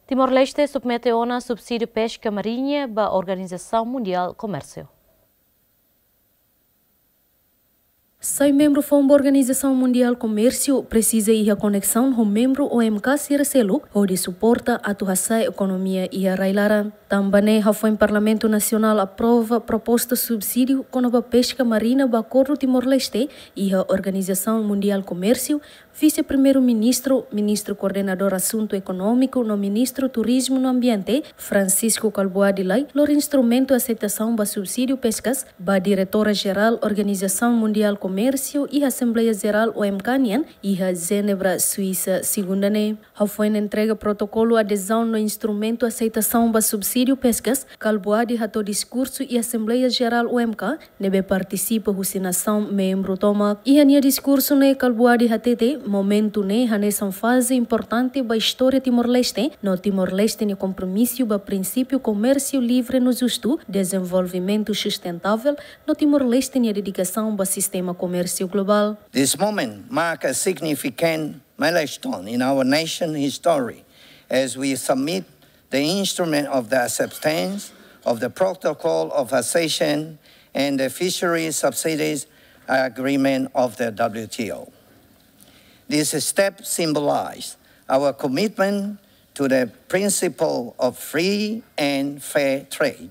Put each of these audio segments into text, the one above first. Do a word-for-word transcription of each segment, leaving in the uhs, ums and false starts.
Timor-Leste submete ona subsídiu peska mariña ba Organizasaun Mundiál Komérsiu. Sai membru foun ba Organizasaun Mundiál Komérsiu presiza iha koneksaun ho membru O M K sira seluk hodi suporta atu hasa'e ekonomia iha rai-laran. Tanba ne'e, hafoin Parlamentu Nasionál aprova proposta subsídiu kona-ba peska marina ba akordu Timor-Leste iha Organizasaun Mundiál Komérsiu, Vise-Primeiru-Ministru, Ministru Koordenadór Asuntu Ekonómiku no Ministru Turizmu no Ambiente, Francisco Kalbuadi Lay, lori instrumentu aseitasaun ba subsídiu peskas ba Diretora Jerál Organizasaun Mundiál Komérsiu iha Asembleia Jerál O M K nian iha Jenebra, Suisa, segunda ne'e. Hafoin entrega protokolu adezaun no instrumentu aseitasaun ba subsídiu peskas, Kalbuadi hato'o diskursu iha Asembleia Jerál O M K, ne'ebé partisipa husi nasaun membru tomak. Iha nia diskursu ne'e, Kalbuadi hatete, momentu ne'e hanesan faze importante ba istória Timor-Leste, no Timor-Leste nia kompromisu ba prinsípiu komérsiu livre no justu, dezenvolvimentu sustentável, no Timor-Leste nia dedikasaun ba sistema komérsiu globál. This moment mark a significant milestone in our nation history as we submit the instrument of the acceptance of the Protocol of Accession and the Fisheries Subsidies Agreement of the W T O. This step symbolizes our commitment to the principle of free and fair trade,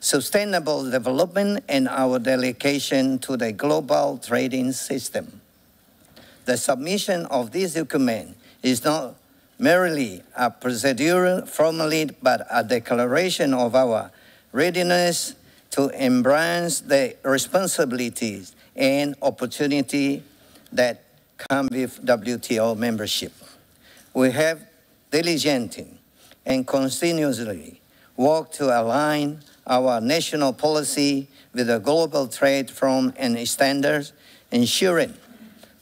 sustainable development, and our dedication to the global trading system. The submission of this document is not merely a procedural formality, but a declaration of our readiness to embrace the responsibilities and opportunity that come with W T O membership. We have diligently and continuously work to align our national policy with the global trade front and standards, ensuring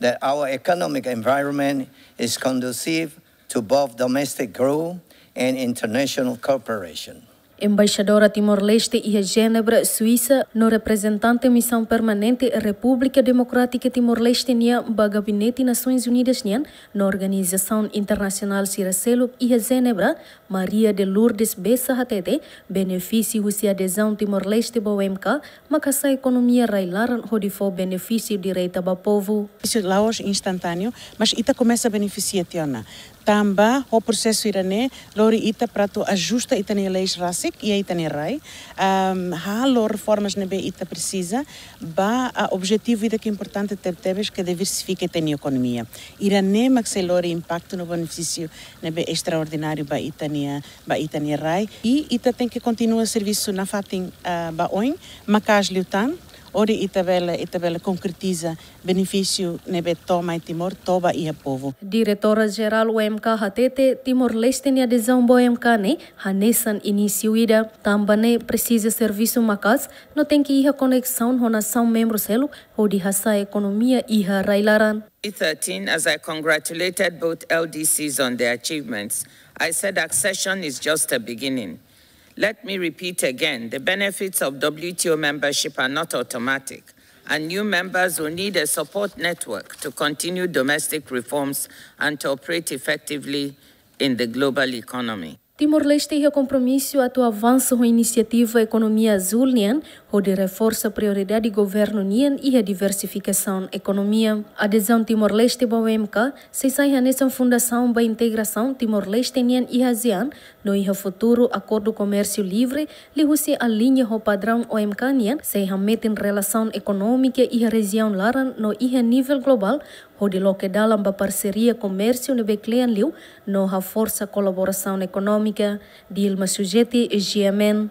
that our economic environment is conducive to both domestic growth and international cooperation. Embaixadora Timor-Leste iha Jenebra, Suisa, no reprezentante Misaun Permanente Repúblika Demokrátika Timor-Leste nian ba Gabinete Nasoins Unidas nian no organizasaun internasionál sira seluk iha Jenebra, Maria de Lourdes Bessa hatete, benefísiu husi adezaun Timor-Leste ba O M K maka hasa'e ekonomia rai-laran hodi fó benefísiu direta ba povu. La'ós instantáneu, mas ita komesa benefisia tiha ona. Tanba ho prosesu ida-ne'e lori ita para atu ajusta ita-nia leis rasik iha ita-nia rai, am, halo reformas ne'ebé ita presiza, ba, ah, objetivu ida ke importante tebetebes ke diversifika ita-nia ekonomia. Ida-ne'e mak sei lori impaktu no benefísiu ne'ebé estraordináriu ba ita-nia, ba ita-nia rai. I ita tenke kontinua servisu nafatin, ah, ba oin, maka'as liután, hodi ita bele, ita bele konkretiza benefísiu ne'ebé to'o mai Timor, to'o ba iha povu. Diretora Jerál O M K hatete, Timor-Leste nia adezaun ba O M K ne'e hanesan inísiu ida, tanba ne'e presiza servisu maka'as, no tenke iha koneksaun ho nasaun membru seluk hodi hasa'e ekonomia iha rai-laran. Thirteen, as I congratulated both L D Cs on their achievements, I said accession is just a beginning. Let me repeat again, the benefits of W T O membership are not automatic, and new members will need a support network to continue domestic reforms and to operate effectively in the global economy. Timor-Leste iha kompromisu atu avansa ho inisiativa ekonomia azúl nian, hodi reforsa prioridade governu nian iha diversifikasaun ekonomia. Adezaun Timor-Leste ba O M K sei sai hanesan fundasaun ba integrasaun Timor-Leste nian iha ASEAN, no iha futuru akordu komérsiu livre, liuhusi aliña ho padraun O M K nian, sei hametin relasaun ekonómika iha rejiaun laran no iha nivel globál, hodi loke dalan ba parseria komérsiu ne'ebé kle'an liu, no haforsa kolaborasaun ekonómika. Dilma Sujeti, G M N.